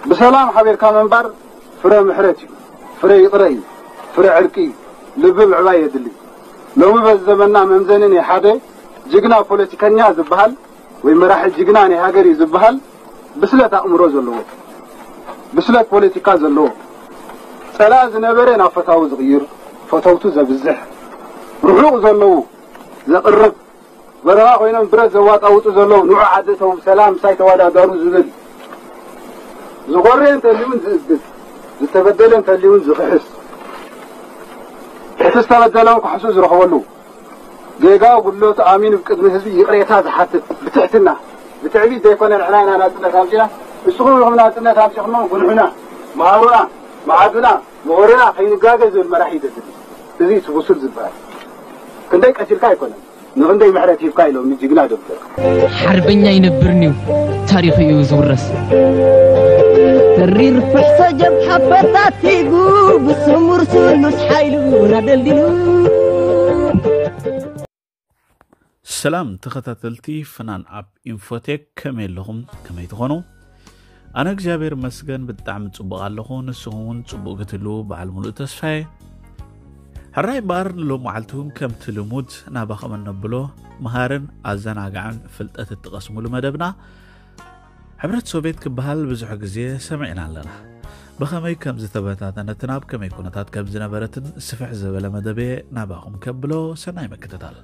ብሰላም ሓቢርካ ምንባር ፍረ ምሕረት እዩ፣ ፍረ ይቕረ እዩ፣ ፍረ ዕርቂ እዩ፣ ልቢ ምዕባይ የድሊ። ሎሚ በዚ ዘመንና መምዘኒ ናይ ሓደ ጅግና ፖለቲከኛ ዝበሃል ወይ መራሒ ጅግና ናይ ሃገር እዩ ዝበሃል ብስለት ኣእምሮ ዘለዎ፣ ብስለት ፖለቲካ ዘለዎ፣ ጸላኢ ዝነበረ ናብ ፈታዊ ዝቕይር፣ ፈተውቱ ዘብዝሕ፣ ርሑቕ ዘለዉ ዘቕርብ፣ በረኻ ኮይኖም ብረት ዘዋጣውጡ ዘለዉ ንዑ ዓዲ ተው ሰላም ምሳይ ተወዳደሩ ዝብል፣ ዝኾሬ እንተልዩን ዝእግድ፣ ዝተበደለ እንተልዩን ዝኽሕስ፣ እቲ ዝተበደለ ክሕሱ ዝረኽበሉ፣ ጌጋ ጉድለቱ ኣሚኑ ብቅድሚ ህዝቢ ይቕሬታ ዝሓትት ብትሕትና፣ ብትዕቢት ዘይኮነ ንሕና ኢና ናጽነት ኣምጺና፣ ንስኹም ኢኹም ናጽነት ኣምጺኹሞ፣ ጉንሑና፣ መሃሩና፣ መዓዱና፣ ምሁርና ከይንጋገ ዝብል መራሒ ይደሊ። እዚ እቲ ብሱል ዝበሃል ክንደይ ቀሲልካ ኣይኮነን፣ ንኽንደይ ምሕረት ሂብካ ኢሎም ንጅግና ደብደብ። ሓርበኛ ይነብር ኒው ታሪኹ እዩ ዝውረስ። ተሪር ፍሕሶ ጀብሓ ፈታቲጉ ብስሙር ስሉስ ሓይሉ ናደልዲሉ። ሰላም ተኸታተልቲ ፍናን ኣብ ኢንፎቴክ፣ ከመይ ኣለኹም? ከመይ ትኾኑ? ኣነ እግዚኣብሔር መስገን ብጣዕሚ ጽቡቕ ኣለኹ። ንስኹም እውን ጽቡቕ ክትህልዉ በዓል ሙሉእ ተስፋዬ። ሕራይ እምበኣር ንሎም መዓልቲ እውን ከምቲ ልሙድ ናባኸም እነብሎ መሃርን ኣዘናጋዕን ፍልጠት እትቐስሙሉ መደብና ሕብረት ሶቬት ክበሃል ብዙሕ ግዜ ሰሚዕና ኣለና። ብኸመይ ከም ዝተበታተነትን ኣብ ከመይ ኩነታት ከም ዝነበረትን ስፍሕ ዝበለ መደብ እየ ናባኹም ከብሎ። ሰናይ ምክትታል።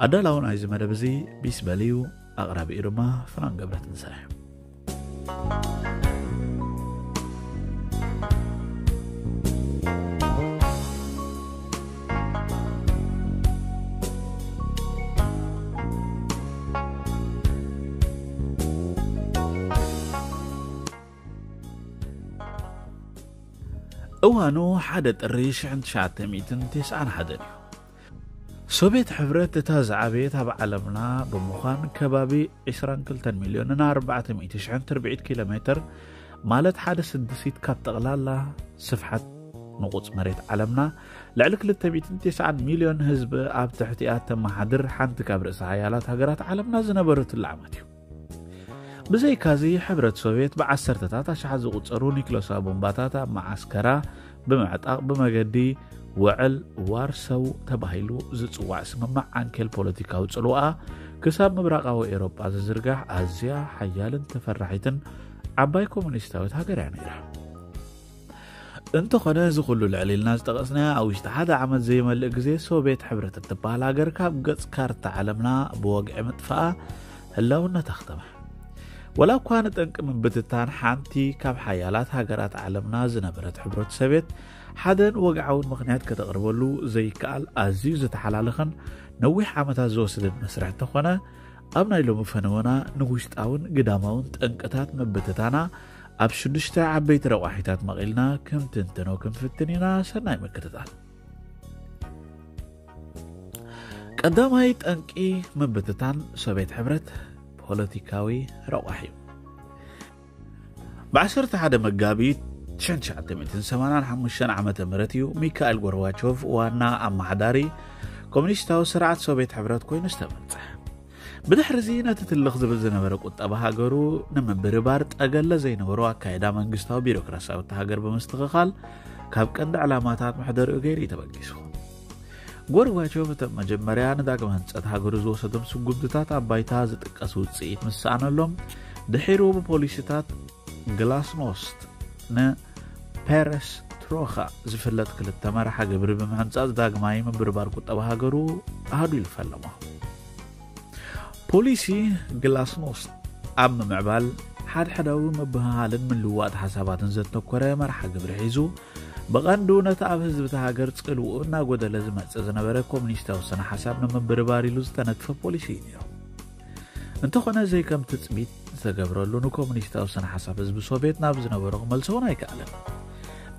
ኣዳላዊ ናይዚ መደብ እዚ ቢስ በል እዩ። ኣቕራቢኡ ድማ ፍናን ገብረ ትንሳኤ። እዋኑ ሓደ ጥሪ ሽሕን ትሽዓተ ሚእትን ተስዓን ሓደን እዩ። ሶቪየት ሕብረት እታ ዝዓበየት ኣብ ዓለምና ብምዃን ከባቢ ዕስራን ክልተን ሚልዮንን ኣርባዕተ ሚእቲ ሽሕን ትርብዒት ኪሎ ሜትር ማለት ሓደ ስድሲት ካብ ጠቕላላ ስፍሓት ንቑጽ መሬት ዓለምና ልዕሊ ክልተ ሚእትን ተስዓን ሚልዮን ህዝቢ ኣብ ትሕቲኣ ተመሓድር ሓንቲ ካብ ርእሰ ሓያላት ሃገራት ዓለምና ዝነበረትሉ ዓመት እዩ። ብዘይካዚ ሕብረት ሶቪየት ብዓሰርተታት ኣሽሓት ዝቑጸሩ ኒክሎሳዊ ቦምባታት ኣብ መዓስከራ ብምዕጣቕ ብመገዲ ውዕል ዋርሰው ተባሂሉ ዝጽዋዕ ስምምዕ ዓንኬል ፖለቲካዊ ጽልዋኣ ክሳብ ምብራቓዊ ኤውሮጳ ዝዝርጋሕ ኣዝያ ሓያልን ተፈራሒትን ዓባይ ኮሙኒስታዊት ሃገር እያ ነይራ። እንተኾነ እዚ ኩሉ ልዕል ኢልና ዝጠቐስናዮ ኣብ ውሽጢ ሓደ ዓመት ዘይመልእ ግዜ ሶቪየት ሕብረት እትበሃል ሃገር ካብ ገጽ ካርታ ዓለምና ብወግዒ ምጥፋኣ ህላውነታ ኣኽተመ። ወላ እኳ ንጠንቂ ምብትታን ሓንቲ ካብ ሓያላት ሃገራት ዓለምና ዝነበረት ሕብረት ሶቪየት ሓደን ወግዓውን ምኽንያት ከተቕርበሉ ዘይከኣል ኣዝዩ ዝተሓላለኸን ነዊሕ ዓመታት ዝወሰደን መስርሕ እንተኾነ ኣብ ናይ ሎሚ ፈነወና ንውሽጣውን ግዳማውን ጠንቅታት ምብትታና ኣብ ሽዱሽተ ዓበይቲ ረቋሒታት መቒልና ክንትንትኖ ክንፍትን ኢና። ሰናይ ምክትታል። ቀዳማይ ጠንቂ ምብትታን ሶቪየት ሕብረት ፖለቲካዊ ረቋሒ እዩ። ብ ዓሰርተ ሓደ መጋቢት ሽሕን ትሽዓተ ሚእትን ሰማንያን ሓሙሽተን ዓመተ ምህረት እዩ ሚካኤል ጎርባቾቭ ዋና ኣመሓዳሪ ኮሙኒስታዊ ስርዓት ሶቪየት ሕብረት ኮይኑ ዝተመርጸ። ብድሕሪ እዚ ነቲ ትልኽ ዝብል ዝነበረ ቁጠባ ሃገሩ ንምብርባር ጠገለ ዘይነበሮ ኣካይዳ መንግስታዊ ቢሮክራሲያዊ እታ ሃገር ብምስትኽኻል ካብ ቀንዲ ዕላማታት መሕደሪኡ ገይሩ እዩ ተበጊሱ። ጎርባቾቭ እቶም መጀመርያ ንዳግመ ህንጸት ሃገሩ ዝወሰዶም ስጉምትታት ኣብ ባይታ ዝጥቀስ ውጽኢት ምስ ሰኣነሎም ድሒሩ ብፖሊሲታት ግላስኖስት ንፔረስትሮኻ ዝፍለጥ ክልተ መርሓ ግብሪ ብምሕንጻጽ ዳግማይ ምብርባር ቁጠባ ሃገሩ ኣሃዱ ኢሉ ፈለሞ። ፖሊሲ ግላስኖስት ኣብ ምምዕባል ሓድሕዳዊ ምብህሃልን ምልውዋጥ ሓሳባትን ዘተኮረ መርሓ ግብሪ ሒዙ ብቐንዱ ነቲ ኣብ ህዝቢ እታ ሃገር ጽልውኡ እናጎደለ ዝመጽእ ዝነበረ ኮሙኒስታዊ ስነ ሓሳብ ንምብርባር ኢሉ ዝተነድፈ ፖሊሲ እዩ ነይሩ። እንተኾነ ዘይከም ትጽቢት ዝተገብረሉ ንኮሙኒስታዊ ስነ ሓሳብ ህዝቢ ሶቪየት ናብ ዝነበሮ ክመልሰውን ኣይከኣለን።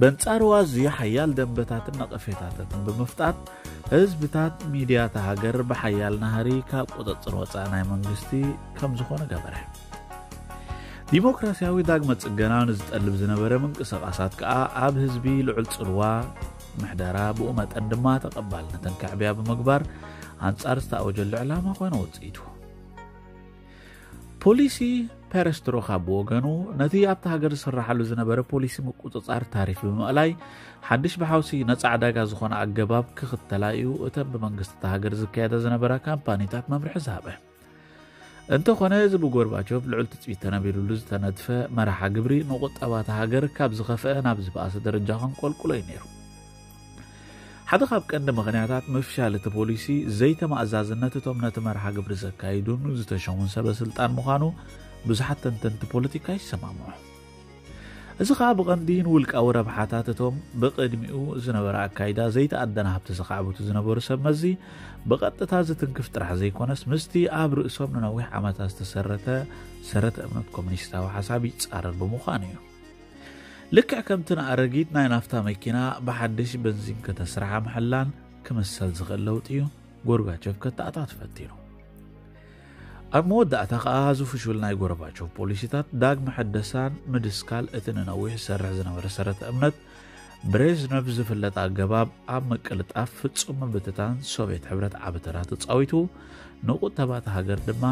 በንጻሩ ኣዝዩ ሓያል ደንበታትን ነቐፌታታትን ብምፍጣር ህዝብታት ሚድያ እታ ሃገር ብሓያል ናህሪ ካብ ቁጽጽር ወጻኢ ናይ መንግስቲ ከም ዝኾነ ገበረ። ዲሞክራሲያዊ ዳግመ ጽገና ንዝጠልብ ዝነበረ ምንቅስቓሳት ከኣ ኣብ ህዝቢ ልዑል ጽልዋ ምሕደራ ብኡ መጠን ድማ ተቐባልነትን ከዕብያ ብምግባር ኣንጻር ዝተኣወጀሉ ዕላማ ኮነ ውጽኢቱ። ፖሊሲ ፐረስትሮኻ ብወገኑ፣ ነቲ ኣብቲ ሃገር ዝስራሓሉ ዝነበረ ፖሊሲ ምቁጽጻር ታሪፍ ብምእላይ፣ ሓድሽ ብሓውሲ ነጻ ዕዳጋ ዝኾነ ኣገባብ ክኽተላ እዩ እተን ብመንግስቲ እታ ሃገር ዝካየዳ ዝነበራ ካምፓኒታት መምርሒ ዝሃበ። እንተኾነ፣ እዚ ብጎርባቾቭ ልዑል ትጽቢት ተነቢሩሉ ዝተነድፈ መርሓ ግብሪ፣ ንቁጠባ እታ ሃገር ካብ ዝኸፍአ ናብ ዝበኣሰ ደረጃ ከንቆልቁሎ እዩ ነይሩ። ሓደ ካብ ቀንዲ ምኽንያታት ምፍሻል እቲ ፖሊሲ፣ ዘይተማእዛዝነት እቶም ነቲ መርሓ ግብሪ ዘካይዱን ዝተሸሙን ሰበ ስልጣን ምዃኑ ብዙሓት ተንተንቲ ፖለቲካ ይሰማምዑ። እዚ ኸኣ ብቐንዲ ንውልቃዊ ረብሓታት እቶም ብቕድሚኡ ዝነበረ ኣካይዳ ዘይተኣደነ ሃብቲ ዘኻዕብቱ ዝነበሩ ሰብ መዚ ብቐጥታ ዝትንክፍ ጥራሕ ዘይኮነስ፣ ምስቲ ኣብ ርእሶም ንነዊሕ ዓመታት ዝተሰረተ ሰረተ እምነት ኮሙኒስታዊ ሓሳብ ይጻረር ብምዃኑ እዩ። ልክዕ ከምቲ ንኣረጊት ናይ ናፍታ መኪና ብሓድሽ በንዚን ከተስርሓ ምሕላን ክምሰል ዝኽእል ለውጢ እዩ ጎርባቸቭ ከተኣታቱ ፈቲኑ። ኣብ መወዳእታ ከኣ፣ እዚ ፍሹል ናይ ጎርባቸቭ ፖሊሲታት ዳግመ ሕደሳን ምድስካል እቲ ንነዊሕ ዝሰርሕ ዝነበረ ሰረተ እምነት ብሬዝነቭ ዝፍለጥ ኣገባብ ኣብ ምቅልጣፍ ፍጹም ምብትታን ሶቭየት ሕብረት ዓቢ ተራ ተጻዊቱ፣ ንቁጠባ እታ ሃገር ድማ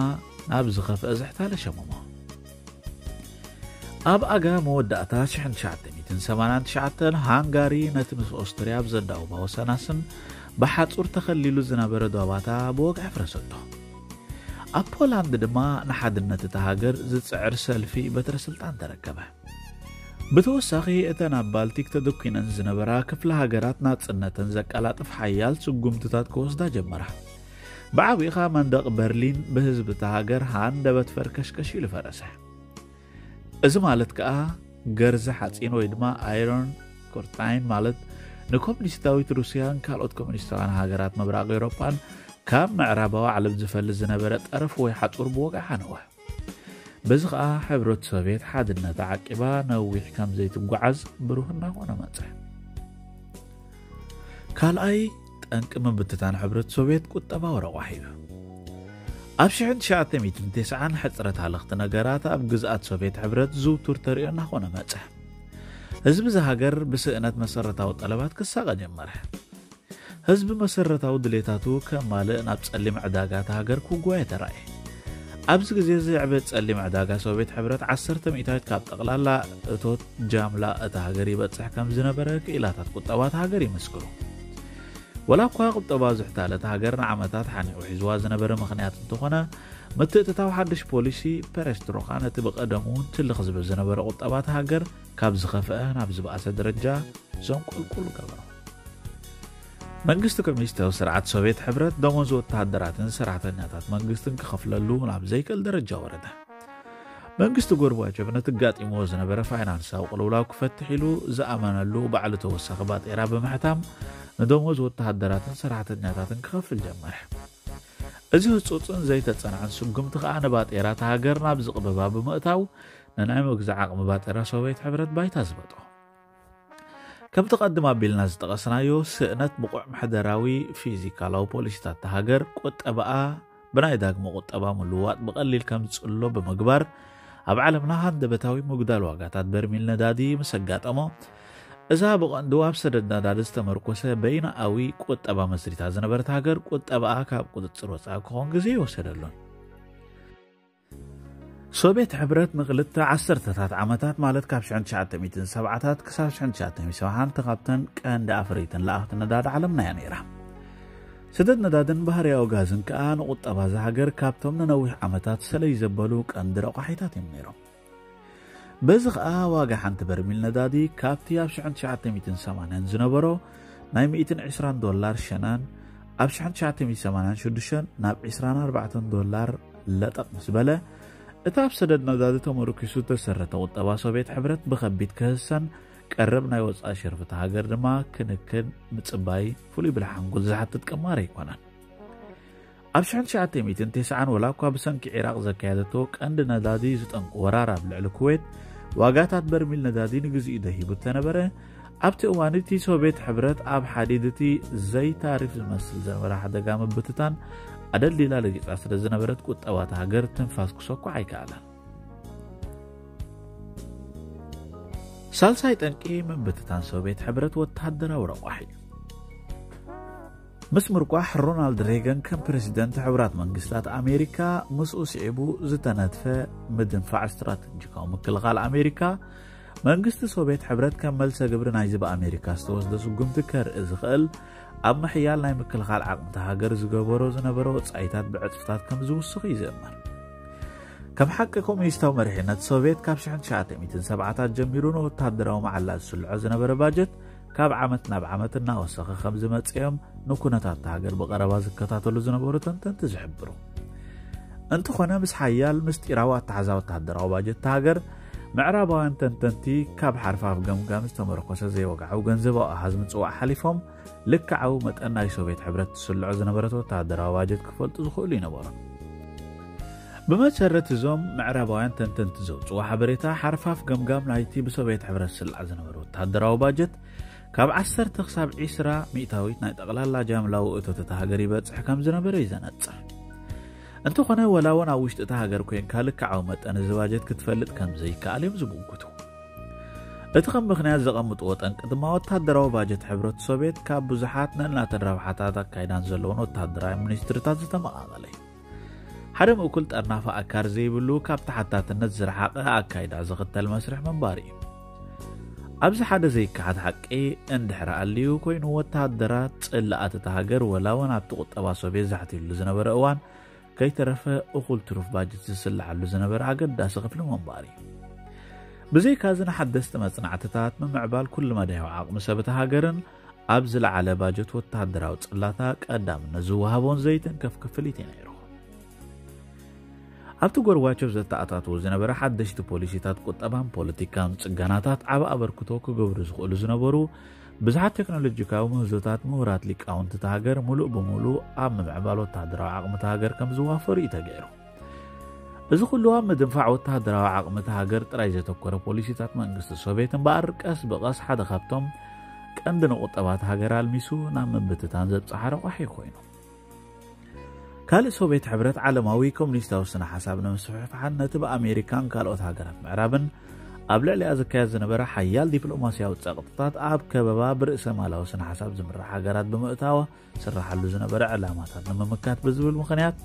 ናብ ዝኸፍአ ዝሕታለ ሸመሞ። ኣብ ኣጋ መወዳእታ ሽሕን ትሽዓተ ሚእትን ሰማንያን ትሽዓተን ሃንጋሪ ነቲ ምስ ኦስትርያ ኣብ ዘዳወባ ወሰናስን ብሓጹር ተኸሊሉ ዝነበረ ዶባታ ብወግዒ ኣፍረሰቶ። ኣብ ፖላንድ ድማ ንሓድነት እታ ሃገር ዝጽዕር ሰልፊ በትረ ስልጣን ተረከበ። ብተወሳኺ፣ እተን ኣብ ባልቲክ ተደኲነን ዝነበራ ክፍለ ሃገራት ናጽነተን ዘቀላጥፍ ሓያል ስጉምትታት ክወስዳ ጀመራ። ብዓቢኡ ኸኣ መንደቕ በርሊን ብህዝቢ እታ ሃገር ሃንደበት ፈርከሽከሽ ኢሉ ፈረሰ። እዚ ማለት ከኣ፣ ገርዘ ሓጺን ወይ ድማ ኣይሮን ኮርታይን ማለት፣ ንኮሙኒስታዊት ሩስያን ካልኦት ኮሙኒስታውያን ሃገራት ምብራቕ ኤውሮጳን ካብ ምዕራባዊ ዓለም ዝፈልስ ዝነበረ ጠረፍ ወይ ሓጹር ብወግዒ ሓነወ። በዚ ኸኣ ሕብረት ሶቭየት ሓድነታ ዓቂባ ነዊሕ ከም ዘይትጓዓዝ ብሩህ እናኾነ መጸ። ካልኣይ ጠንቂ ምብትታን ሕብረት ሶቭየት ቁጠባዊ ረቋሒ እዩ። ኣብ ሽሕን ትሽዓተ ሚእትን ተስዓን ሕጽረት ሃለኽቲ ነገራት ኣብ ግዝኣት ሶቭየት ሕብረት ዝውቱር ተርእዮ እናኾነ መጸ። ህዝቢ እዛ ሃገር ብስእነት መሰረታዊ ጠለባት ክሳቐ ጀመረ። ህዝቢ መሰረታዊ ድሌታቱ ከማልእ ናብ ጸሊም ዕዳጋ እታ ሃገር ክጓየ ተራእየ። ኣብዚ ግዜ እዚ ዕቤት ጸሊም ዕዳጋ ሶቭየት ሕብረት ዓሰርተ ሚእታዊት ካብ ጠቕላላ እቶት ጃምላ እታ ሃገር ይበጽሕ ከም ዝነበረ ክኢላታት ቁጠባ እታ ሃገር ይምስክሩ። ወላ እኳ ቁጠባ ዝሕታለት ሃገር ንዓመታት ሓኒቑ ሒዝዋ ዝነበረ ምኽንያት እንተኾነ፣ ምትእትታው ሓድሽ ፖሊሲ ፐረስትሮካ ነቲ ብቐደሙ ትልኽ ዝብል ዝነበረ ቁጠባ እታ ሃገር ካብ ዝኸፍአ ናብ ዝበኣሰ ደረጃ ዘንቆልቁሉ ገበሮ። መንግስቲ ኮሚኒስታዊ ስርዓት ሶቭየት ሕብረት ደሞዝ ወተሃደራትን ሰራሕተኛታት መንግስትን ክኸፍለሉ ናብ ዘይክእል ደረጃ ወረደ። መንግስቲ ጎርባቸቭ ነቲ ኣጋጢምዎ ዝነበረ ፋይናንሳዊ ቅልውላው ክፈትሕ ኢሉ ዝኣመነሉ ባዕሉ ተወሳኺ ባጤራ ብምሕታም ንደሞዝ ወተሃደራትን ሰራሕተኛታትን ክኸፍል ጀመረ። እዚ ህጹጽን ዘይተጸንዐን ስጉምቲ ከኣ ንባጤራ እታ ሃገር ናብ ዝቕበባ ብምእታው ንናይ ምግዛእ ዓቕሚ ባጤራ ሶቭየት ሕብረት ባይታ ዝበጦ። ከምቲ ቀድም ኣቢልና ዝጠቐስናዮ፣ ስእነት ብቑዕ ምሕደራዊ ፊዚካላዊ ፖሊሲታት እታ ሃገር ቁጠባኣ ብናይ ዳግመ ቁጠባ ምልውዋጥ ብቐሊል ከም ዝጽሎ ብምግባር፣ ኣብ ዓለምና ሃንደበታዊ ምጉዳል ዋጋታት በርሚል ነዳዲ ምስ ኣጋጠሞ፣ እዛ ብቐንዱ ኣብ ሰደድ ነዳዲ ዝተመርኮሰ በይናኣዊ ቁጠባ መስሪታ ዝነበረት ሃገር ቁጠባኣ ካብ ቁጽጽር ወጻኢ ክኾን ግዜ ይወሰደሉን። ሶቭየት ሕብረት ንክልተ ዓሰርተታት ዓመታት፣ ማለት ካብ ሽሕን ትሽዓተ ሚእትን ሰብዓታት ክሳብ ሽሕን ትሽዓተ ሚእትን ሰብዓን፣ ካብተን ቀንዲ ኣፍረይትን ለኣኽቲ ነዳዲ ዓለምና እያ ነይራ። ሰደድ ነዳድን ባህርያዊ ጋዝን ከኣ ንቁጠባ እዛ ሃገር ካብቶም ንነዊሕ ዓመታት ሰለይ ዘበሉ ቀንዲ ረቋሒታት እዮም ነይሮም። በዚ ኸኣ ዋጋ ሓንቲ በርሚል ነዳዲ ካብቲ ኣብ ሽሕን ትሽዓተ ሚእትን ሰማንያን ዝነበሮ ናይ ሚእትን ዕስራን ዶላር ሸናን፣ ኣብ ሽሕን ትሽዓተ ሚእትን ሰማንያን ሽዱሽተን ናብ ዕስራን ኣርባዕተን ዶላር ለጠቕ ምስ በለ፣ እቲ ኣብ ሰደድ ነዳዲ ተመርኪሱ ዝተሰረተ ቁጠባ ሶቭየት ሕብረት ብኸቢድ ክህሰን ቀረብ ናይ ወጻኢ ሸርፊ እታ ሃገር ድማ ክንክን ምጽባይ ፍሉይ ብልሒ ሓንጎል ዝሓትት ቅማር ኣይኮነን። ኣብ ሽሕን ትሽዓተ ሚእትን ተስዓን ወላ እኳ ብሰንኪ ዒራቕ ዘካየደቶ ቀንዲ ነዳዲ ዝጠንቁ ወራር ኣብ ልዕሊ ኩዌት ዋጋታት በርሚል ነዳዲ ንግዚኡ ደሂቡ እተነበረ፣ ኣብቲ እዋን እቲ ሶቭየት ሕብረት ኣብ ሓዲድ እቲ ዘይታሪፍ ዝመስል ዝነበረ ሓደጋ ምብትታን ኣደልዲላ ለጊጻ ስለ ዝነበረት ቁጠባ እታ ሃገር ትንፋስ ክሰኩዕ ኣይከኣለን። ሳልሳይ ጠንቂ ምብትታን ሶቭየት ሕብረት ወተሃደራዊ ረቋሒ እዩ። ምስ ምርቋሕ ሮናልድ ሬገን ከም ፕረሲደንት ሕቡራት መንግስታት ኣሜሪካ፣ ምስኡ ስዒቡ ዝተነድፈ ምድንፋዕ ስትራተጂካዊ ምክልኻል ኣሜሪካ፣ መንግስቲ ሶቪየት ሕብረት ከም መልሰ ግብሪ ናይዚ ብኣሜሪካ ዝተወስደ ስጉምቲ ከርኢ ዝኽእል ኣብ ምሕያል ናይ ምክልኻል ዓቕምቲ ሃገር ዝገበሮ ዝነበረ ወጻኢታት ብዕጽፍታት ከም ዝውስኽ እዩ ዝእመን። ከም ሓቂ ኮሚኒስታዊ መሪሕነት ሶቪየት ካብ ሽሕን ትሽዓተ ሚእትን ሰብዓታት ጀሚሩ ንወታደራዊ መዓላ ዝስልዖ ዝነበረ ባጀት ካብ ዓመት ናብ ዓመት እናወሰኸ ከም ዝመጽኦም ንኩነታት ሃገር ብቐረባ ዝከታተሉ ዝነበሩ ተንተንቲ ዝሕብሩ። እንተኾነ ምስ ሓያል ምስጢራዊ ኣተሓዛ ወታደራዊ ባጀት ሃገር ምዕራባውያን ተንተንቲ ካብ ሓርፋፍ ገምጋም ዝተመርኮሰ ዘይወግዓዊ ገንዘባዊ ኣሃዝ ምጽዋዕ ሓሊፎም ልክዓዊ መጠን ናይ ሶቪየት ሕብረት ትስልዖ ዝነበረት ወታደራዊ ባጀት ክፈልጡ ዝኽእሉ ይነበሩ። ብመሰረት እዞም ምዕራባውያን ተንተንቲ ዘውፅዎ ሓበሬታ ሓርፋፍ ገምጋም ናይቲ ብሶቪየት ሕብረት ዝስላዕ ዝነበረ ወታደራዊ ባጀት ካብ ዓሰርተ ክሳብ ዒስራ ሚእታዊት ናይ ጠቕላላ ጃምላዊ እቶት እታ ሃገር ይበፅሕ ከም ዝነበረ እዩ ዘነፅር። እንተኾነ ወላ እውን ኣብ ውሽጢ እታ ሃገር ኮይንካ ልክዓዊ መጠን እዚ ባጀት ክትፈልጥ ከም ዘይከኣል እዮም ዝምጉቱ። እቲ ከም ምኽንያት ዘቐምጥዎ ጠንቂ ድማ ወታደራዊ ባጀት ሕብረት ሶቪየት ካብ ብዙሓት ነናተን ረብሓታት ኣካይዳን ዘለዎን ወታደራዊ ሚኒስትርታት ዝተመቓቐለ እዩ። ሓደ ምእኩል ጠርናፊ ኣካር ዘይብሉ ካብ ተሓታትነት ዝረሓቐ ኣካይዳ ዝኽተል መስርሕ ምንባር እዩ። ኣብዚ ሓደ ዘይከሓድ ሓቂ እንድሕር ኣልዩ ኮይኑ ወታደራት ጽላኣት እታ ሃገር ወላ እውን ኣብቲ ቁጠባ ሶቪየት ዛሕቲሉ ዝነበረ እዋን ከይተረፈ እኹል ትሩፍ ባጀት ዝስልዓሉ ዝነበረ ኣገዳሲ ክፍሊ ምንባር እዩ። ብዘይካዚ ንሓደስቲ መጽናዕትታት ምምዕባል ኩሉ መዳያዊ ዓቕሚ ሰብ እታ ሃገርን ኣብ ዝለዓለ ባጀት ወታደራዊ ጽላታ ቀዳምነት ዝወሃቦን ዘይትንከፍ ክፍሊት እዩ ነይሩ። ኣብቲ ጎርባቾቭ ዘተኣታትዎ ዝነበረ ሓደሽቲ ፖሊሲታት ቁጠባን ፖለቲካን ጽገናታት ዓቢ ኣበርክቶ ክገብሩ ዝኽእሉ ዝነበሩ ብዙሓት ቴክኖሎጂካዊ ምህዞታት ምሁራት ሊቃውንቲ እታ ሃገር ሙሉእ ብሙሉእ ኣብ ምምዕባል ወታደራዊ ዓቕሚ እታ ሃገር ከም ዝዋፈሩ እዩ ተገይሩ። እዚ ኩሉ ኣብ ምድንፋዕ ወታደራዊ ዓቕሚ እታ ሃገር ጥራይ ዘተኮረ ፖሊሲታት መንግስቲ ሶቪየት እምበኣር ቀስ ብቐስ ሓደ ካብቶም ቀንዲ ንቁጠባ እታ ሃገር ኣልሚሱ ናብ ምብትታን ዘብጽሓ ረቋሒ ኮይኑ። ካልእ ሶቪየት ሕብረት ዓለማዊ ኮሙኒስታዊ ስነ ሓሳብ ንምስፍሕፋሕን ነቲ ብኣሜሪካን ካልኦት ሃገራት ምዕራብን ኣብ ልዕሊኣ ዝካየድ ዝነበረ ሓያል ዲፕሎማስያዊ ጸቕጥታት ኣብ ከበባ ብርእሰ ማላዊ ስነ ሓሳብ ዝምራሕ ሃገራት ብምእታዋ ስራሓሉ ዝነበረ ዕላማታት ንምምካት ብዝብል ምኽንያት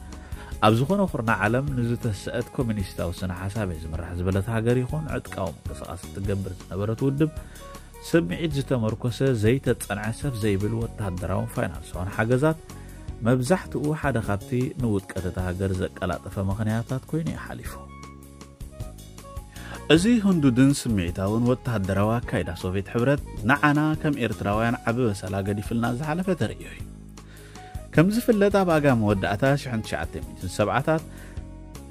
ኣብ ዝኾነ ኩርናዕ ዓለም ንዝተሰአት ኮሙኒስታዊ ስነ ሓሳብ እየ ዝምራሕ ዝበለት ሃገር ይኹን ዕጥቃዊ ምንቅስቃስ እትገብር ዝነበረት ውድብ ስምዒት ዝተመርኮሰ ዘይተጸንዐ ሰፍ ዘይብል ወታደራውን ፋይናንሳውን ሓገዛት መብዛሕትኡ ሓደ ካብቲ ንውድቀት እታ ሃገር ዘቀላጠፈ ምኽንያታት ኮይኑ እዩ ሓሊፉ። እዚ ህንዱድን ስምዒታውን ወተሃደራዊ ኣካይዳ ሶቪየት ሕብረት ንዓና ከም ኤርትራውያን ዓቢ በሰላ ገዲፍልና ዝሓለፈ ተርእዮ እዩ። ከም ዝፍለጥ ኣብ ኣጋ መወዳእታ ሽሕን ትሽዓተ ሚእትን ሰብዓታት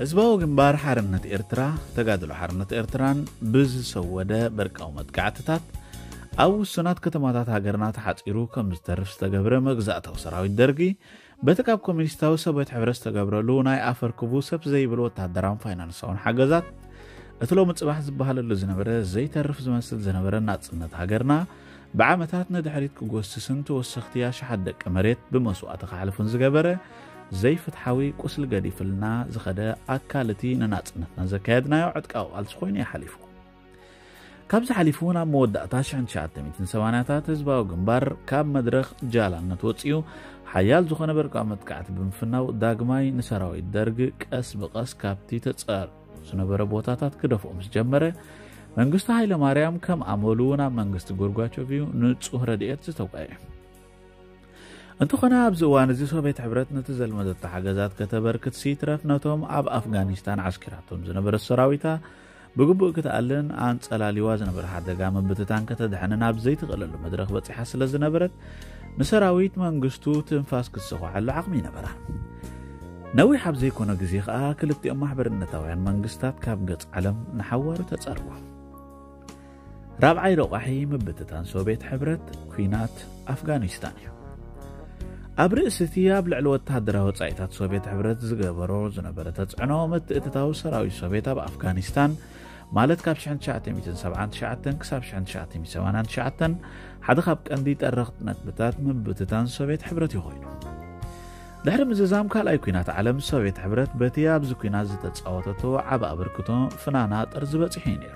ህዝባዊ ግንባር ሓርነት ኤርትራ፣ ተጋድሎ ሓርነት ኤርትራን ብዝሰወደ በርቃዊ መጥቃዕትታት ኣብ ውሱናት ከተማታት ሃገርና ተሓጺሩ ከም ዝተርፍ ዝተገብረ መግዛእታዊ ሰራዊት ደርጊ በቲ ካብ ኮሚኒስታዊ ሶቪየት ሕብረት ዝተገብረሉ ናይ ኣፈርክቡ ሰብ ዘይብል ወታደራውን ፋይናንሳውን ሓገዛት እቲ ሎሚ ጽባሕ ዝበሃለሉ ዝነበረ ዘይተርፍ ዝመስል ዝነበረ ናጽነት ሃገርና ብዓመታት ንድሕሪት ክጎስስን ተወሰኽቲ ኣሽሓት ደቂ መሬት ብመስዋእቲ ክሓልፉን ዝገበረ ዘይፍትሓዊ ቁስሊ ገዲፍልና ዝኸደ ኣካል እቲ ንናጽነትና ዘካየድናዮ ዕጥቃዊ ቃልሲ ኮይኑ እዩ ሓሊፉ። ካብዚ ሓሊፉ እውን ኣብ መወዳእታ ሽሕን ትሽዓተ ሚእትን ሰማንያታት ህዝባዊ ግንባር ካብ መድረኽ ጃላነት ወጺኡ ሓያል ዝኾነ በርቃዊ መጥቃዕቲ ብምፍናው ዳግማይ ንሰራዊት ደርግ ቀስ ብቐስ ካብቲ ተጸር ዝነበረ ቦታታት ክደፍኦ ምስ ጀመረ መንግስቲ ሃይለ ማርያም ከም ኣመሉ ናብ መንግስቲ ጎርጓቾቭ እዩ ንጹህ ረድኤት ዝተውቀየ። እንተኾነ ኣብዚ እዋን እዚ ሶቪየት ሕብረት ነቲ ዘልመደቶ ሓገዛት ከተበርክት ሲትረፍ ነቶም ኣብ ኣፍጋኒስታን ዓስኪራቶም ዝነበረ ሰራዊታ ብግቡእ ክትኣልን ኣንጸላሊዋ ዝነበረ ሓደጋ ምብትታን ከተድሕንን ኣብ ዘይትኽእለሉ መድረኽ በጺሓ ስለ ዝነበረት ንሰራዊት መንግስቱ ትንፋስ ክትሰኹዓሉ ዓቕሚ ይነበራ። ነዊሕ ኣብ ዘይኮነ ግዜ ከኣ ክልቲኦም ማሕበርነታውያን መንግስታት ካብ ገጽ ዓለም ንሓዋሩ ተጸርዋ። ራብዓይ ረቋሒ ምብትታን ሶቪየት ሕብረት ኲናት ኣፍጋኒስታን እዩ። ኣብ ርእሲ እቲ ኣብ ልዕሊ ወተሃደራዊ ወጻኢታት ሶቪየት ሕብረት ዝገበሮ ዝነበረ ተጽዕኖ ምትእትታው ሰራዊት ሶቪየት ኣብ ኣፍጋኒስታን ማለት ካብ ሽሕን ትሽዓተ ሚእትን ሰብዓን ትሽዓተን ክሳብ ሽሕን ትሽዓተ ሚእትን ሰማንያን ትሽዓተን ሓደ ካብ ቀንዲ ጠረኽቲ ነጥብታት ምብትታን ሶቪየት ሕብረት እዩ ኮይኑ። ድሕሪ ምዝዛም ካልኣይ ኲናት ዓለም ሶቪየት ሕብረት በቲ ኣብዚ ኲናት ዝተጻወተቶ ዓቢ ኣበርክቶ ፍናና ጥርዚ በጺሑ እዩ ነይሩ።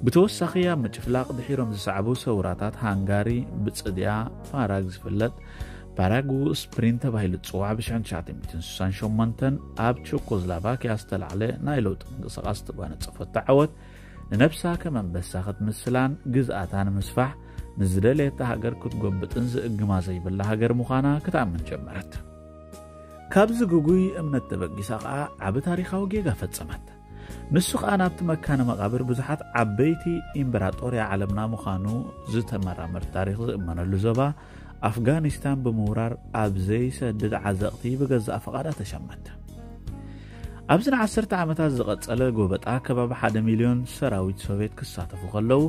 ብተወሳኺ ኣብ ምጭፍላቕ ድሒሮም ዝሰዕቡ ሰውራታት ሃንጋሪ ብጽድያ ፓራግ ዝፍለጥ ፓራጉ ስፕሪንት ተባሂሉ ዝጽዋዕ ብ ሽሕን ትሽዓተ ሚእትን ስሳን ሸሞንተን ኣብ ቸኮስላቫኪያ ዝተላዕለ ናይ ለውጢ ምንቅስቓስ ዝተጓነጸፈቶ ዓወት፣ ንነብሳ ከም ኣንበሳ ክትምስላን ግዝኣታ ንምስፋሕ ንዝደለየታ ሃገር ክትጎብጥን ዝእግማ ዘይብላ ሃገር ምዃና ክትኣምን ጀመረት። ካብዚ ግጉይ እምነት ተበጊሳ ኸኣ ዓቢ ታሪኻዊ ጌጋ ፈጸመት። ንሱ ኸኣ ናብቲ መካነ መቓብር ብዙሓት ዓበይቲ ኢምበራጦርያ ዓለምና ምዃኑ ዝተመራመር ታሪኽ ዝእመነሉ ዞባ ኣፍጋኒስታን ብምውራር ኣብ ዘይሰድድ ዓዘቕቲ ብገዛእ ፍቓዳ ተሸመት። ኣብዚ ንዓሰርተ ዓመታት ዝቐጸለ ጎበጣ ከባቢ ሓደ ሚልዮን ሰራዊት ሶቭየት ክሳተፉ ከለዉ፣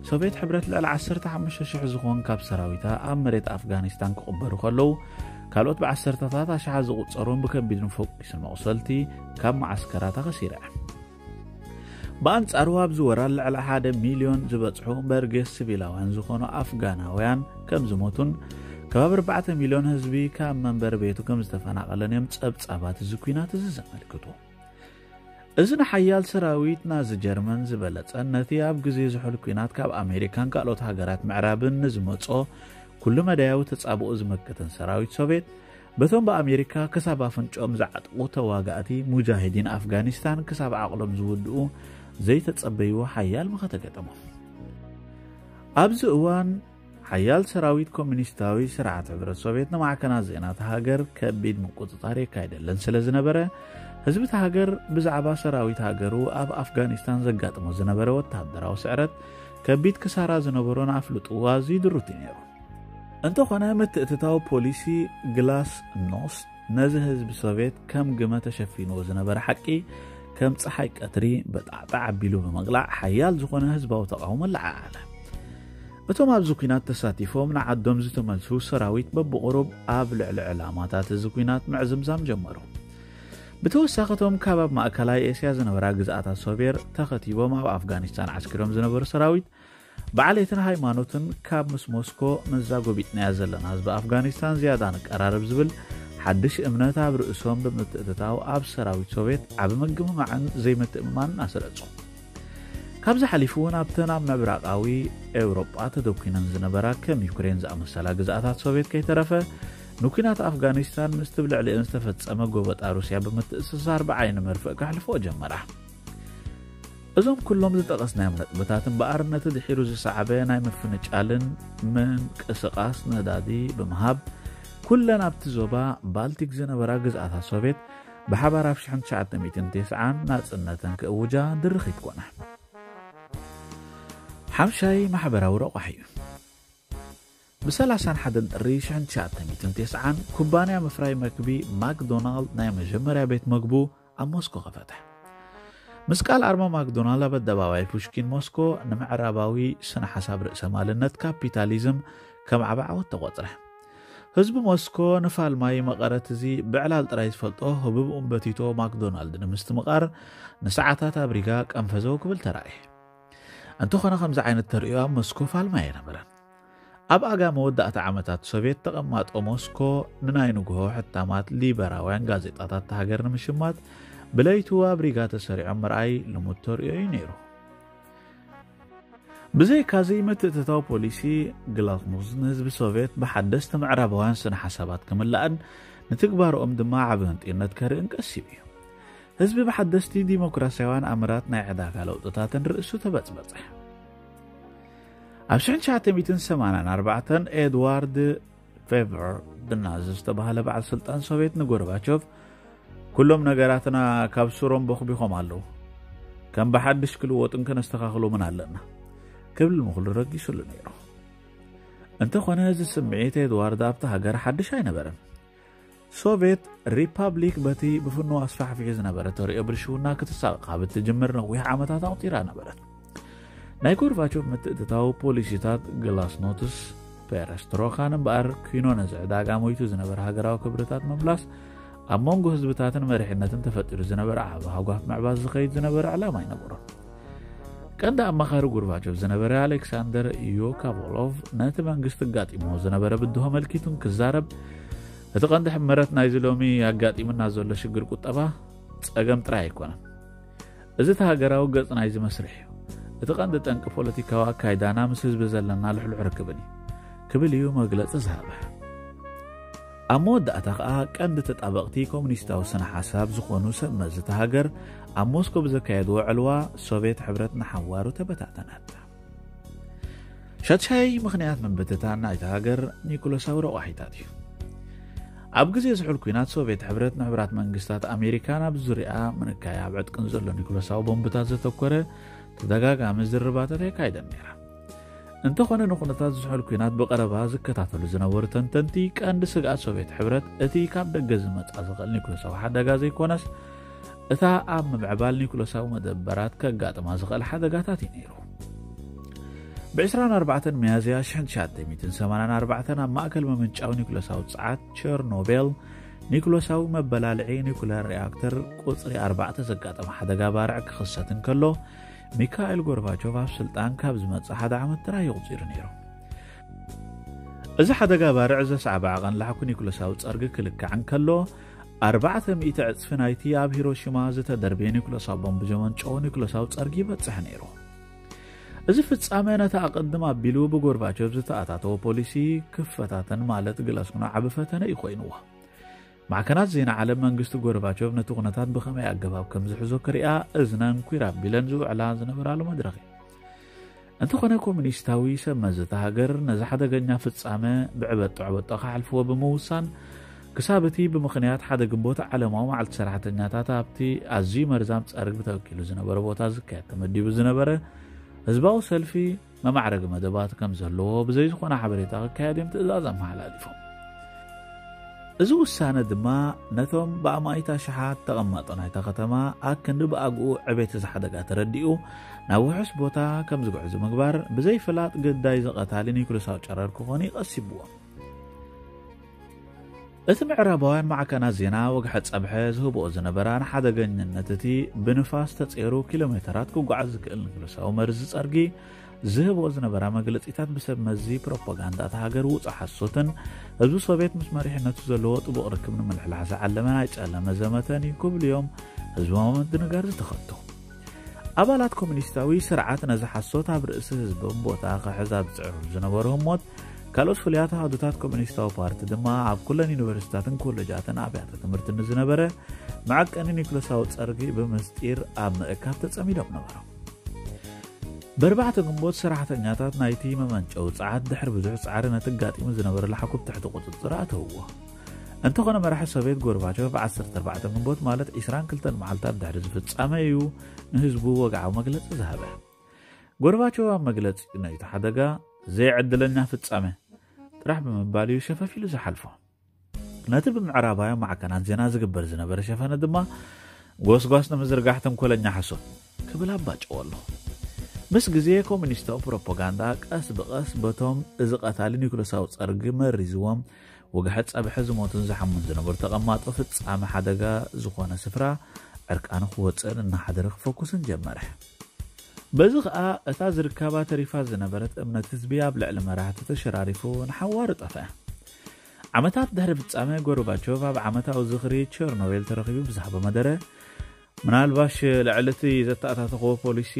ሶቭየት ሕብረት ልዕሊ ዓሰርተ ሓሙሽተ ሽሕ ዝኾን ካብ ሰራዊታ ኣብ መሬት ኣፍጋኒስታን ክቕበሩ ከለዉ፣ ካልኦት ብዓሰርተታት ኣሽሓት ዝቑጸሩን ብከቢድ ንፈኲስን መቑሰልቲ ካብ መዓስከራታ ከሲራ። ብኣንጻሩ ኣብዚ ወራር ልዕሊ ሓደ ሚልዮን ዝበጽሑ በርጌስ ሲቪላውያን ዝኾኑ ኣፍጋናውያን ከም ዝሞቱን ከባቢ ኣርባዕተ ሚልዮን ህዝቢ ካብ መንበሪ ቤቱ ከም ዝተፈናቐለን እዮም ጸብጻባት እዚ ኲናት እዚ ዘመልክቱ። እዚ ንሓያል ሰራዊት ናዚ ጀርመን ዝበለጸን ነቲ ኣብ ግዜ ዝሑል ኲናት ካብ ኣሜሪካን ካልኦት ሃገራት ምዕራብን ንዝመጾ ኩሉ መዳያዊ ተጻብኦ ዝመከተን ሰራዊት ሶቭየት፣ በቶም ብኣሜሪካ ክሳብ ኣፍንጭኦም ዝዓጥቑ ተዋጋእቲ ሙጃሂዲን ኣፍጋኒስታን ክሳብ ዓቕሎም ዝውድኡ ዘይተጸበይዎ ሓያል መኸተ ገጠሞም። ኣብዚ እዋን ሓያል ሰራዊት ኮሚኒስታዊ ስርዓት ሕብረት ሶቭየት ንማዕከናት ዜና እታ ሃገር ከቢድ ምቁጽጻር የካይደለን ስለ ዝነበረ፣ ህዝቢ እታ ሃገር ብዛዕባ ሰራዊት ሃገሩ ኣብ ኣፍጋኒስታን ዘጋጥሞ ዝነበረ ወተሃደራዊ ስዕረት ከቢድ ክሳራ ዝነበሮን ኣፍልጥኡ ኣዝዩ ድሩት እዩ ነይሩ። እንተኾነ ምትእትታው ፖሊሲ ግላስኖስት ነዚ ህዝቢ ሶቭየት ከም ግመ ተሸፊንዎ ዝነበረ ሓቂ ከም ጸሓይ ቀትሪ በጣዕጣዕ ኣቢሉ ብምቕላዕ ሓያል ዝኾነ ህዝባዊ ተቓውሞ ኣለዓዓለ። እቶም ኣብዚ ኲናት ተሳቲፎም ንዓዶም ዝተመልሱ ሰራዊት በብቑሩብ ኣብ ልዕሊ ዕላማታት እዚ ኲናት ምዕዝምዛም ጀመሩ። ብተወሳኺ እቶም ካብ ኣብ ማእከላይ ኤስያ ዝነበራ ግዝኣታት ሶቬር ተኸቲቦም ኣብ ኣፍጋኒስታን ዓስኪሮም ዝነበሩ ሰራዊት ብዓሌትን ሃይማኖትን ካብ ምስ ሞስኮ ምስዛ ጎቢጥናያ ዘለና ህዝቢ ኣፍጋኒስታን ዝያዳ ንቀራረብ ዝብል ሓድሽ እምነት ኣብ ርእሶም ብምትእትታው ኣብ ሰራዊት ሶቬት ዓቢ ምግምማዕን ዘይምትእምማንን ኣስረጹ። ካብዚ ሓሊፉ እውን ኣብተን ኣብ ምብራቓዊ ኤውሮጳ ተደኲነን ዝነበራ ከም ዩክሬን ዝኣመሰላ ግዝኣታት ሶቬት ከይተረፈ ንኲናት ኣፍጋኒስታን ምስቲ ብልዕሊአን ዝተፈጸመ ጎበጣ ሩስያ ብምትእስሳር ብዓይኒ መርፍእ ከሕልፍኦ ጀመራ። እዞም ኩሎም ዝጠቐስናዮም ነጥብታት እምበኣር ነቲ ድሒሩ ዝሰዓበ ናይ ምፍንጫልን ምንቅስቓስ ነዳዲ ብምሃብ ኩለን ኣብቲ ዞባ ባልቲክ ዝነበራ ግዝኣታት ሶቬት ብሓባር ኣብ ሽሕን ትሽዓተ ሚእትን ተስዓን ናጽነተን ክእውጃ ድርኺት ኮና። ሓምሻይ ማሕበራዊ ረቋሒ እዩ። ብ ሰላሳን ሓደን ጥሪ ሽሕን ትሽዓተ ሚእትን ተስዓን ኩባንያ ምፍራይ መግቢ ማክዶናልድ ናይ መጀመርያ ቤት መግቡ ኣብ ሞስኮ ከፈተ። ምስ ቃል ኣርማ ማክዶናልድ ኣብ ኣደባባይ ፑሽኪን ሞስኮ ንምዕራባዊ ስነ ሓሳብ ርእሰ ማልነት ካፒታሊዝም ከም ዓቢ ዓወት ተቖጽረ። ህዝቢ ሞስኮ ንፋልማይ መቐረት እዚ ብዕላል ጥራይ ዝፈልጦ ህቡብ ኡምበቲቶ ማክዶናልድ ንምስትምቓር ንሰዓታት ኣብ ሪጋ ቀንፈዘው ክብል ተራእየ። እንተኾነ ከምዚ ዓይነት ተርእዮ ኣብ ሞስኮ ፋልማይ ኣይነበረን። ኣብ ኣጋ መወዳእታ ዓመታት ሶቬት ተቐማጦ ሞስኮ ንናይ ንግሆ ሕታማት ሊበራውያን ጋዜጣታት እታ ሃገር ንምሽማት ብለይቱ ኣብ ሪጋ ተሰሪዖም ምርኣይ ልሙድ ተርእዮ እዩ ነይሩ። ብዘይካዚ ምትእትታው ፖሊሲ ግላስኖስት ንህዝቢ ሶቬት ብሓደስቲ ምዕራባውያን ስነ ሓሳባት ክምላእን ንትግባርኦም ድማ ዓቢ ህንጥዩነት ከርእን ቀሲቡ እዩ። ህዝቢ ብሓደስቲ ዲሞክራሲያውያን ኣምራት ናይ ዕዳጋ ለውጥታትን ርእሱ ተበጽበጸ። ኣብ ሽሕን ትሽዓተ ሚእትን ሰማንያን ኣርባዕተን ኤድዋርድ ፌቨር ድናዝ ዝተባህለ በዓል ስልጣን ሶቬት ንጎርባቾቭ፣ "ኩሎም ነገራትና ካብ ሱሮም ቦኽቢኾም ኣለዉ። ከም ብሓድሽ ክልወጡን ከነስተኻኽሎምን ኣለና" ክብል ምኽሉ ረጊሱሉ ነይሩ። እንተኾነ እዚ ስምዒት ኤድዋርድ ኣብታ ሃገር ሓድሽ ኣይነበረን። ሶቬት ሪፓብሊክ በቲ ብፍኑው ኣስፋሕፊሑ ዝነበረ ተርእዮ ብልሽውና ክትሳቐቕ ካብ እትጅምር ነዊሕ ዓመታት ኣቑጺራ ነበረት። ናይ ጎርባቾቭ ምትእትታው ፖሊሲታት ግላስኖትስ ፔረስትሮካን እምበኣር ኪኖ ነዚ ዕዳጋ ሞይቱ ዝነበረ ሃገራዊ ክብርታት ምምላስ ኣብ መንጎ ህዝብታትን መሪሕነትን ተፈጢሩ ዝነበረ ዓቢ ሃጓፍ ምዕባስ ዝኸይድ ዝነበረ ዕላማ ኣይነበሮን። ቀንዲ ኣማኻሪ ጎርባቾቭ ዝነበረ ኣሌክሳንደር ዮካቮሎቭ ነቲ መንግስቲ ኣጋጢምዎ ዝነበረ ብድሆ ኣመልኪቱ እንክዛረብ፣ "እቲ ቀንዲ ሕመረት ናይዚ ሎሚ ኣጋጢሙና ዘሎ ሽግር ቁጠባ ጸገም ጥራይ ኣይኮነን። እዚ እቲ ሃገራዊ ገጽ ናይዚ መስርሕ እዩ። እቲ ቀንዲ ጠንቂ ፖለቲካዊ ኣካይዳና ምስ ህዝቢ ዘለና ልሕሉሕ ርክብን እዩ" ክብል እዩ መግለጺ ዝሃበ። ኣብ መወዳእታ ከኣ ቀንዲ ተጣበቕቲ ኮሙኒስታዊ ስነ ሓሳብ ዝኾኑ ሰብ መዚ እታ ሃገር ኣብ ሞስኮ ብዘካየድዎ ዕልዋ ሶቭየት ሕብረት ንሓዋሩ ተበታተነት። ሻድሻይ ምኽንያት ምብትታን ናይታ ሃገር ኒኩለሳዊ ረቋሒታት እዩ። ኣብ ግዜ ዝሑል ኲናት ሶቭየት ሕብረት ንሕቡራት መንግስታት ኣሜሪካ ናብ ዙርያ ምንካይ ኣብ ዕጥቅን ዘሎ ኒኩለሳዊ ቦምብታት ዘተኮረ ተደጋጋሚ ዝርባታት የካይደን ነይራ። እንተኾነ ንኹነታት ዝሑል ኲናት ብቐረባ ዝከታተሉ ዝነበሩ ተንተንቲ ቀንዲ ስግኣት ሶቭየት ሕብረት እቲ ካብ ደገ ዝመጻ ዝኽእል ኒኩለሳዊ ሓደጋ ዘይኮነስ እታ ኣብ ምምዕባል ኒኩለሳዊ መደበራት ከጋጥማ ዝኽእል ሓደጋታት እዩ ነይሩ። ብ ዕስራን ኣርባዕተን ሚያዝያ ሽሕን ትሽዓተ ሚእትን ሰማንያን ኣርባዕተን ኣብ ማእከል መመንጫዊ ኒኩለሳዊ ጸዓት ቸርኖቤል ኒኩለሳዊ መበላልዒ ኒኩለር ሪኣክተር ቁጽሪ ኣርባዕተ ዘጋጠመ ሓደጋ ባርዕ ክኽሰት እንከሎ፣ ሚካኤል ጎርባቾቭ ኣብ ስልጣን ካብ ዝመጽእ ሓደ ዓመት ጥራይ እዩ ቁጺሩ ነይሩ። እዚ ሓደጋ ባርዕ ዘስዓበ ዓቐን ላሕኩ ኒኩለሳዊ ጸርጊ ክልካዕ እንከሎ፣ ኣርባዕተ ሚእቲ ዕጽፊ ናይቲ ኣብ ሂሮሺማ ዝተደርበየ ኒኩለሳዊ ቦምብ ዘመንጨዎ ኒኩለሳዊ ጸርጊ ይበጽሕ ነይሩ። እዚ ፍጻመ ነቲ ኣቐድም ኣቢሉ ብጎርባቾቭ ዝተኣታተወ ፖሊሲ ክፈታተን ማለት ግላስኩኖ ዓቢ ፈተነ እዩ ኮይንዎ። ማዕከናት ዜና ዓለም መንግስቲ ጎርባቾቭ ነቲ ኩነታት ብኸመይ ኣገባብ ከም ዝሕዞ ክሪኣ እዝነን ኲር ኣቢለን ዝውዕላ ዝነበራሉ መድረኽ እዩ። እንተኾነ ኮሙኒስታዊ ሰብ መዚ እታ ሃገር ነዚ ሓደገኛ ፍጻመ ብዕበጦ ዕበጦ ክሓልፍዎ ብምውሳን ክሳብ እቲ ብምኽንያት ሓደ ግንቦት ዓለማዊ መዓልቲ ሰራሕተኛታት ኣብቲ ኣዝዩ መርዛም ጸርጊ ተወኪሉ ዝነበረ ቦታ ዝካየድ ተመዲቡ ዝነበረ ህዝባዊ ሰልፊ መማዕረጊ መደባት ከም ዘለዎ ብዘይ ዝኾነ ሓበሬታ ክካየድ እዮም ትእዛዝ ኣመሓላሊፎም። እዚ ውሳነ ድማ ነቶም ብኣማኢት ኣሽሓት ተቐማጦ ናይታ ከተማ ኣክንዲ ብኣግኡ ዕቤት እዚ ሓደጋ ተረዲኡ ናብ ውሑስ ቦታ ከም ዝግዕዙ ምግባር ብዘይ ፍላጥ ግዳይ ዝቐታሊ ኒኩለሳዊ ጨረር ክኾኑ ይቐሲብዎም። እቲ ምዕራባውያን ማዕከናት ዜና ወግሐ ጸብሐ ዝህብኦ ዝነበራ ንሓደገኝነት እቲ ብንፋስ ተጼሩ ኪሎ ሜተራት ክጓዓዝ ዝክእል ኒኩለሳዊ መርዚ ጸርጊ ዝህብኦ ዝነበራ መግለጺታት ብሰብ መዚ ፕሮፓጋንዳ እታ ሃገር ውጹእ ሓሶትን ህዝቢ ሶቭየት ምስ መሪሕነቱ ዘለዎ ጥቡቕ ርክብ ንምልሕላሕ ዝዓለመ ናይ ጸለመ ዘመተን እዩ ክብሉ እዮም ህዝባዊ ምድንጋር ዝተኸቱ። ኣባላት ኮሙኒስታዊ ስርዓት ነዚ ሓሶት ኣብ ርእሲ ህዝቦም ቦታ ክሕዝ ኣብ ዝጽዕሩ ዝነበሩ ህሞት፣ ካልኦት ፍሉያት ኣሃዱታት ኮሙኒስታዊ ፓርቲ ድማ ኣብ ኩለን ዩኒቨርሲታትን ኮሌጃትን ኣብያተ ትምህርቲ ንዝነበረ መዐቀኒ ኒኩለሳዊ ጸርጊ ብምስጢር ኣብ ምእካብ ተጸሚዶም ነበሩ። በርባዕተ ግንቦት ሰራሕተኛታት ናይቲ መመንጨዊ ጸዓት ድሕሪ ብዙሕ ጻዕሪ ነቲ ኣጋጢሙ ዝነበረ ላሕኩብ ትሕቲ ቁጽጽር ኣተውዎ። እንተኾነ መራሒ ሶቭየት ጎርባቾቭ ዓሰርተ ኣርባዕተ ግንቦት ማለት ዕስራን ክልተን መዓልታት ድሕሪ ዝፍጻመ እዩ ንህዝቡ ወግዓዊ መግለጺ ዝሃበ። ጎርባቾቭ ኣብ መግለጺ ናይቲ ሓደጋ ዘይዕድለኛ ፍጻመ ጥራሕ ብምባል እዩ ሸፈፍ ኢሉ ዝሓልፎ። ነቲ ብምዕራባውያን ማዕከናት ዜና ዝግበር ዝነበረ ሸፈነ ድማ ጎስጓስ ንምዝርጋሕ ተንኮለኛ ሓሶት ክብል ኣባጨዎ ኣሎ። ምስ ግዜ ኮሙኒስታዊ ፕሮፓጋንዳ ቀስ ብቐስ በቶም እዚ ቀታሊ ኒኩለሳዊ ጸርጊ መሪዝዎም ወግሐ ጸብሐ ዝሞቱን ዝሓሙን ዝነበሩ ተቐማጦ ፍጻመ ሓደጋ ዝኾነ ስፍራ ዕርቃኑ ክወጽእን እናሓደረ ክፈኩስን ጀመረ። በዚ ኸኣ እታ ዝርካባ ተሪፋ ዝነበረት እምነት ህዝቢ ኣብ ልዕሊ መራሕቲ ተሸራሪፉ ንሓዋሩ ጠፍአ። ዓመታት ድሕሪ ፍጻመ ጎርባቾቭ ኣብ ዓመታዊ ዝኽሪ ቸርኖቤል ተረኺቡ ብዝሃቦ መደረ፣ ምናልባሽ ልዕሊ እቲ ዘተኣታተኽዎ ፖሊሲ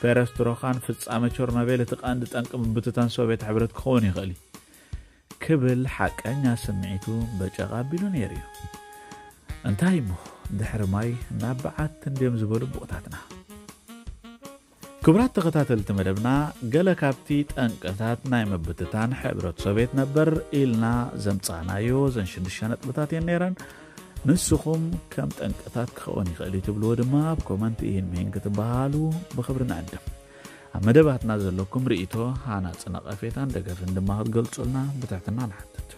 ፔረስትሮኻን ፍጻመ ቸርኖቤል እቲ ቀንዲ ጠንቂ ምብትታን ሶቭየት ሕብረት ክኸውን ይኽእል እዩ ክብል ሓቀኛ ስምዒቱ በጨቕ ኣቢሉ ነይሩ እዩ። እንታይ እሞ ድሕሪ ማይ ናብ በዓት እንድዮም ዝበሉ ኣቦታትና። ክቡራት ተኸታተልቲ መደብና፣ ገለ ካብቲ ጠንቅታት ናይ ምብትታን ሕብረት ሶቭየት ነበር ኢልና ዘምጻእናዮ እዘን ሽዱሽተ ነጥብታት እየን ነይረን። ንስኹም ከም ጠንቅታት ክኸውን ይኽእል እዩ ትብልዎ ድማ ኣብ ኮመንት ኢሂን ምሂን ክትበሃሉ ብኽብሪ ንዕድም። ኣብ መደባትና ዘለኩም ርእይቶ፣ ሃናጺ ነቐፌታን ደገፍን ድማ ክትገልጹልና ብትሕትና ንሓትት።